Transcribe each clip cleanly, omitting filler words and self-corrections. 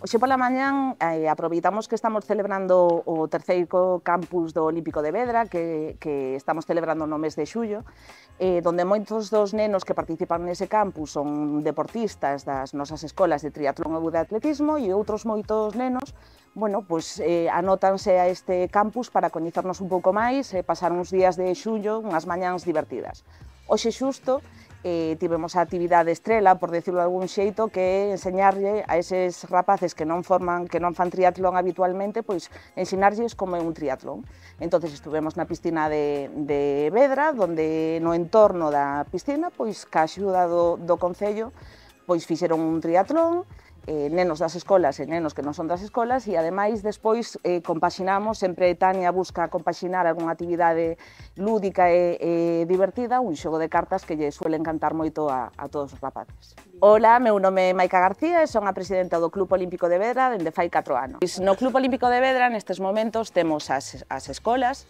Hoxe pola mañán aproveitamos que estamos celebrando o terceiro campus do Olímpico de Vedra, que estamos celebrando no mes de xullo, donde moitos dos nenos que participan nese campus son deportistas das nosas escolas de triatlón ou de atletismo e outros moitos nenos, bueno, pues, anótanse a este campus para coñecernos un pouco máis e pasar uns días de xullo, unhas mañáns divertidas. Hoxe xusto tivemos a actividade estrela, por decirlo de algún xeito, que é enseñarlle a eses rapaces que non fan triatlón habitualmente, pois ensinarlles como é un triatlón. Entonces estuvemos na piscina de Vedra, donde no entorno da piscina, pois ca axuda do Concello, pois fixeron un triatlón, nenos das escolas e nenos que non son das escolas, e ademais despois compaxinamos, sempre Tania busca compaxinar algunha actividade lúdica e divertida, un xogo de cartas que lle suele encantar moito a todos os rapaces. Ola, meu nome é Maica García e son a presidenta do Club Olímpico de Vedra dende fai 4 anos. No Club Olímpico de Vedra nestes momentos temos as escolas,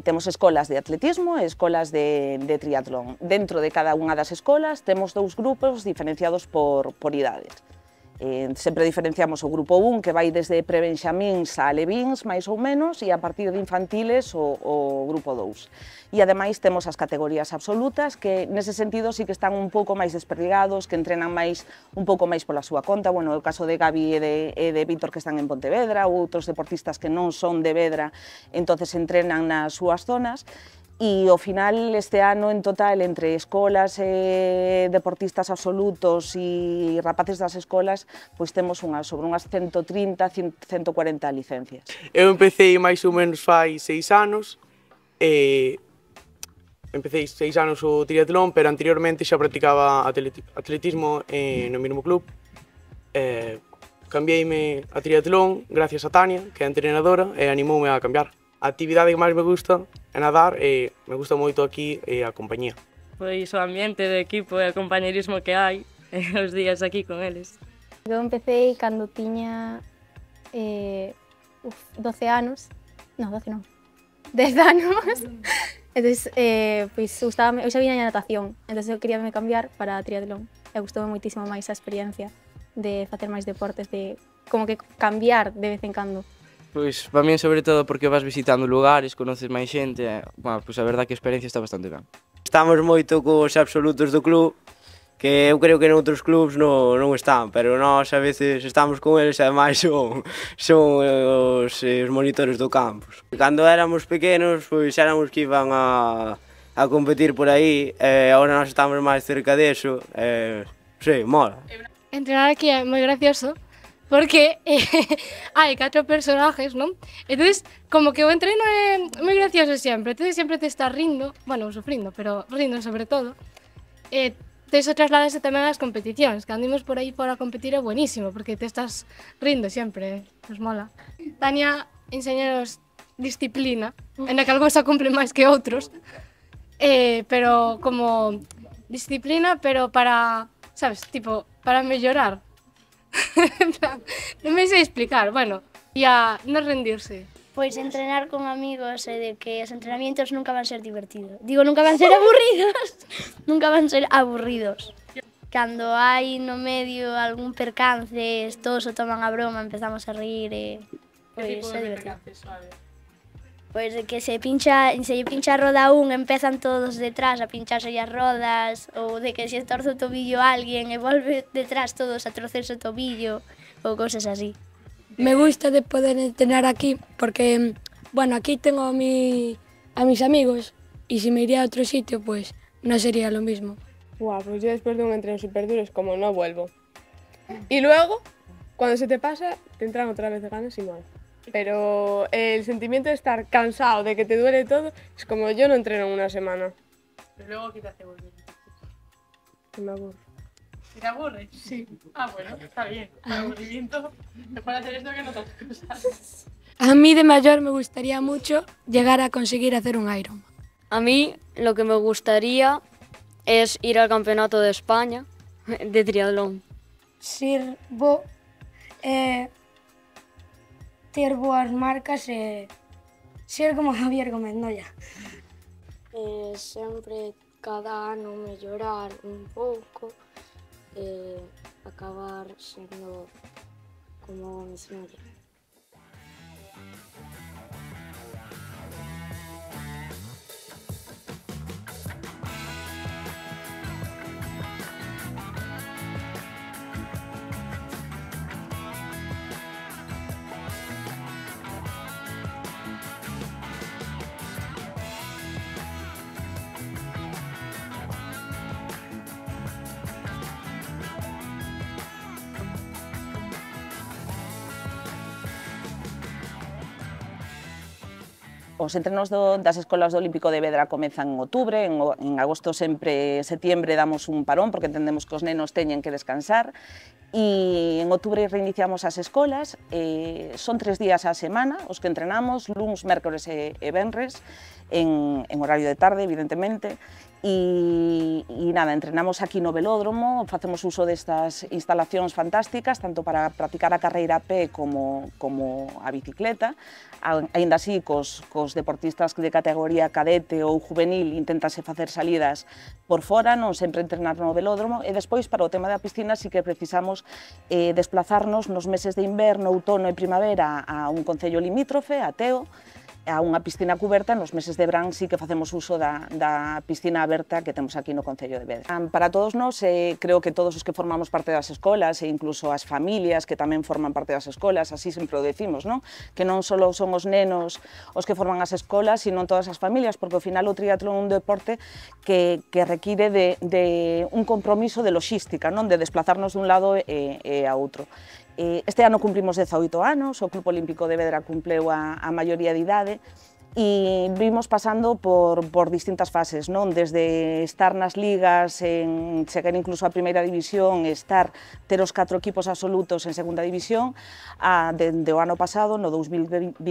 temos escolas de atletismo e escolas de triatlón. Dentro de cada unha das escolas temos 2 grupos diferenciados por idades. Sempre diferenciamos o grupo 1, que vai desde prebenxamíns a alevíns, máis ou menos, e a partir de infantiles o grupo 2. E ademais temos as categorías absolutas, que nese sentido sí que están un pouco máis desperdigados, que entrenan máis un pouco máis pola súa conta. Bueno, o caso de Gabi e de Víctor que están en Pontevedra, ou outros deportistas que non son de Vedra, entonces entrenan nas súas zonas. E ao final, este ano, en total, entre escolas, deportistas absolutos e rapaces das escolas, pois temos sobre unhas 130, 140 licencias. Eu empecé máis ou menos fai 6 anos, empecé 6 anos o triatlón, pero anteriormente xa practicaba atletismo no mesmo club. Cambiei-me a triatlón gracias a Tania, que é a entrenadora, e animoume a cambiar. A actividade que máis me gusta é nadar e me gusta moito aquí a compañía. Pois o ambiente de equipo e o compañerismo que hai os días aquí con eles. Eu empecé cando tiña 12 anos, non, 12 non, 10 anos. Entón, pois gustábame, eu xa viña a natación, entón eu quería me cambiar para triatlón. E gustoume moitísimo máis a experiencia de facer máis deportes, de como que cambiar de vez en cando. Pois, para min, sobre todo, porque vas visitando lugares, conoces máis xente, pois a verdad que a experiencia está bastante ben. Estamos moito cos absolutos do club, que eu creo que noutros clubs non están, pero nós a veces estamos con eles e ademais son os monitores do campus. Cando éramos pequenos, pois éramos que iban a competir por aí, e agora nós estamos máis cerca deso, sí, mola. Entrenar aquí é moi gracioso, porque hai 4 personajes, non? Entón, como que o entreno é moi gracioso sempre, entón sempre te estás rindo, bueno, sufrindo, pero rindo sobre todo. Iso trasladase tamén ás competicións, cando imos por aí fora a competir é buenísimo, porque te estás rindo sempre, nos mola. Tania enseñanos disciplina, en a que algúns a cumplen máis que outros, pero como disciplina, pero para, sabes, tipo, para mellorar. Non me sei explicar, bueno, e a non rendirse. Pois entrenar con amigos e de que os entrenamientos nunca van ser divertidos. Digo, nunca van ser aburridos. Nunca van ser aburridos. Cando hai no medio algún percance, todos o toman a broma, empezamos a rir e pois é divertido. Pois de que se lle pincha a roda un, empezan todos detrás a pincharse as rodas, ou de que se torce o tobillo a alguén e volve detrás todos a torcerse o tobillo, ou cousas así. Me gusta de poder entrenar aquí porque, bueno, aquí tengo a mis amigos y si me iría a otro sitio, pues no sería lo mismo. Pues yo después de un entreno súper duro es como no vuelvo. Y luego, cuando se te pasa, te entran otra vez de ganas y mola. Pero el sentimiento de estar cansado, de que te duele todo, es como yo no entreno en una semana. Pero luego, ¿qué te hace volver? Que me aburro. ¿Te aburres? Sí. Bueno, está bien. El aburrimiento, mejor hacer esto que no otras cosas. A mí de mayor me gustaría mucho llegar a conseguir hacer un Ironman. A mí lo que me gustaría es ir al campeonato de España de triatlón. Ser bo, ter boas marcas e ser como Javier Gómez Noya. Sempre cada ano mellorar un pouco, acabar sendo como Miss Media. Os entrenos das escolas do Olímpico de Vedra comezan en outubro, en agosto setembro damos un parón porque entendemos que os nenos teñen que descansar e en outubro reiniciamos as escolas, son 3 días á semana os que entrenamos, luns, mércores e venres, en horario de tarde, evidentemente, e nada, entrenamos aquí no velódromo, facemos uso destas instalacións fantásticas, tanto para practicar a carreira a pé como a bicicleta, aínda así cos deportistas de categoría cadete ou juvenil inténtase facer salidas por fora, non sempre entrenar no velódromo, e despois para o tema da piscina sí que precisamos desplazarnos nos meses de inverno, outono e primavera a un concello limítrofe, a Teo, a unha piscina cuberta, nos meses de verán sí que facemos uso da piscina aberta que temos aquí no Concello de Vedra. Para todos nós, creo que todos os que formamos parte das escolas e incluso as familias que tamén forman parte das escolas, así sempre o decimos, non? Que non só son os nenos os que forman as escolas, sino todas as familias, porque ao final o triatlón é un deporte que require de un compromiso de logística, non? De desplazarnos dun lado e a outro. Este ano cumprimos 18 anos, o Club Olímpico de Vedra cumpleu a maioría de idade e vimos pasando por distintas fases, non? Desde estar nas ligas, chegar incluso a primeira división, ter os 4 equipos absolutos en segunda división, dende o ano pasado, no 2022,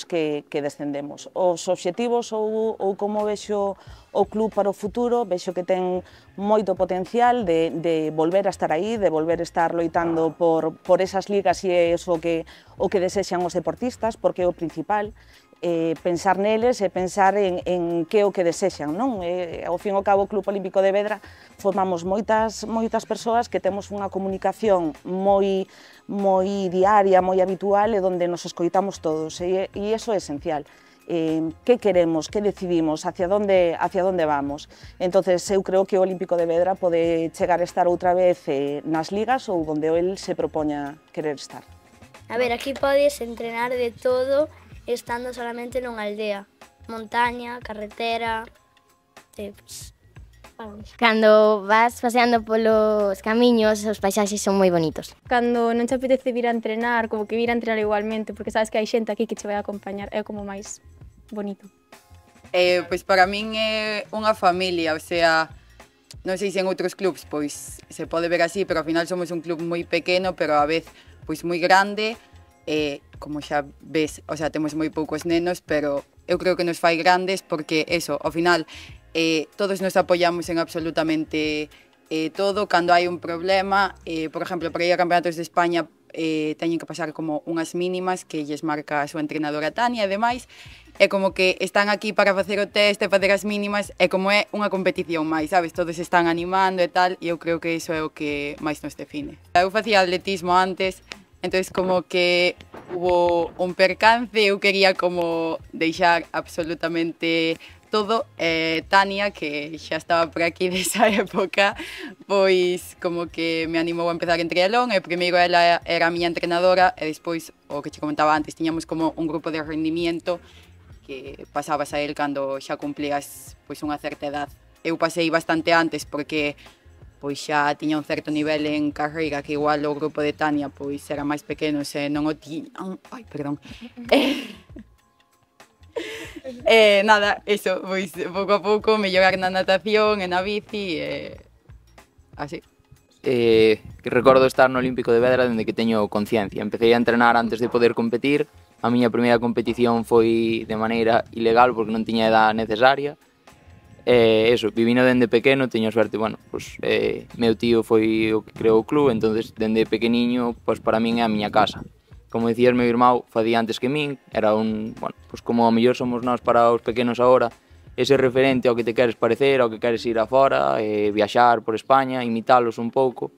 que descendemos. Os obxectivos ou como vexo o club para o futuro, vexo que ten moito potencial de volver a estar aí, de volver a estar loitando por esas ligas e é o que desexan os deportistas, porque é o principal, pensar neles e pensar en que é o que desexan, non? Ao fin e ao cabo, o Club Olímpico de Vedra formamos moitas persoas que temos unha comunicación moi diaria, moi habitual e onde nos escoitamos todos, e iso é esencial. Que queremos, que decidimos, hacia onde vamos. Entonces, eu creo que o Olímpico de Vedra pode chegar a estar outra vez nas ligas ou onde el se propoña querer estar. A ver, aquí podes entrenar de todo estando solamente nunha aldea. Montaña, carretera... Cando vas paseando polos camiños, os paisaxes son moi bonitos. Cando non te apetece vir a entrenar, como que vir a entrenar igualmente, porque sabes que hai xente aquí que che vai a acompañar, é como máis bonito. Pois para min é unha familia, o sea, non sei se en outros clubs pois se pode ver así, pero ao final somos un club moi pequeno, pero a vez pois moi grande, como xa ves, o sea, temos moi poucos nenos, pero eu creo que nos fai grandes porque eso, ao final todos nos apoiamos en absolutamente todo. Cando hai un problema, por exemplo, para ir a campeonatos de España teñen que pasar como unhas mínimas que lles marca a súa entrenadora Tania e demais, é como que están aquí para facer o test e facer as mínimas, é como é unha competición máis, sabes? Todos están animando e tal, e eu creo que iso é o que máis nos define. Eu facía atletismo antes, entonces como que hubo un percance, eu quería como deixar absolutamente todo, Tania, que xa estaba por aquí desa época, pois como que me animou a empezar en triatlón, e primeiro ela era a miña entrenadora, e despois, o que che comentaba antes, tiñamos como un grupo de rendimiento que pasabas a él cando xa cumplías pois unha certa edad. Eu pasei bastante antes porque pois xa tiña un certo nivel en carreira, que igual o grupo de Tania pois era máis pequeno e non o tiñan. Ai, perdón. Nada, eso, pois pouco a pouco mellorar na natación e na bici e así. Recordo estar no Olímpico de Vedra dende que teño conciencia. Empecé a entrenar antes de poder competir. A miña primeira competición foi de maneira ilegal porque non tiña a edad necesaria. Eso, vivino dende pequeno, teño suerte, bueno, pues, meu tío foi o que creou o club, entonces dende pequeniño, pues para min é a miña casa. Como dicías, meu irmão facía antes que min, era un, bueno, pues como a mellor somos nós para os pequenos agora, ese referente ao que te queres parecer, ao que queres ir afora, viaxar por España, imitalos un pouco,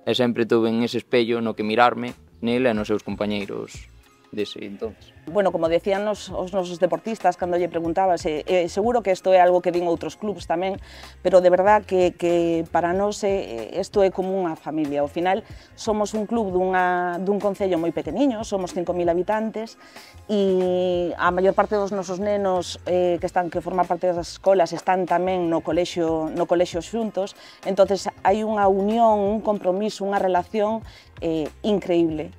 e sempre tuve en ese espello no que mirarme, nele e nos seus compañeiros dese entonces. Bueno, como decían os nosos deportistas cando lle preguntabas, seguro que isto é algo que din outros clubs tamén, pero de verdad que para nós isto é como unha familia. Ao final somos un club dun concello moi pequeniño, somos 5.000 habitantes e a maior parte dos nosos nenos que forman parte das escolas están tamén no colexio xuntos, entonces hai unha unión, un compromiso, unha relación increíble.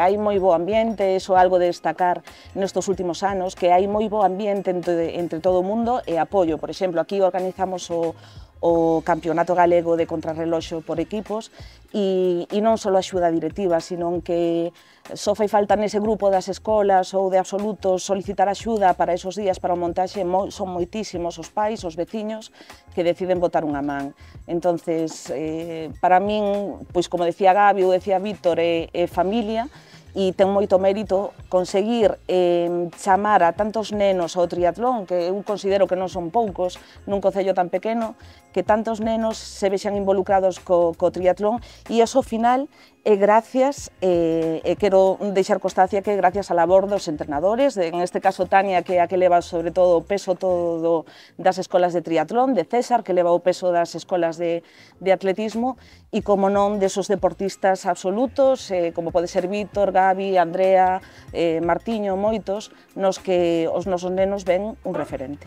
Hai moi bo ambiente, iso é algo de destacar nestes últimos anos, que hai moi bo ambiente entre todo o mundo e apoio. Por exemplo, aquí organizamos o Campeonato Galego de Contrarreloxo por equipos e non só axuda directiva, sino que só fai falta nese grupo das escolas ou de absolutos solicitar axuda para esos días para o montaxe, son moitísimos os pais, os veciños que deciden botar unha man. Entonces, para min, pois como decía Gabi ou decía Víctor, é familia, e ten moito mérito conseguir chamar a tantos nenos ao triatlón, que eu considero que non son poucos nun concello tan pequeno, que tantos nenos se vexan involucrados co triatlón, e iso ao final é gracias, e quero deixar constancia que é gracias á labor dos entrenadores, en este caso Tania, que é a que leva sobre todo o peso todo das escolas de triatlón, de César, que leva o peso das escolas de atletismo, e como non desos deportistas absolutos, como pode ser Víctor, Gabi, Andrea, Martiño, moitos, nos que os nosos nenos ven un referente.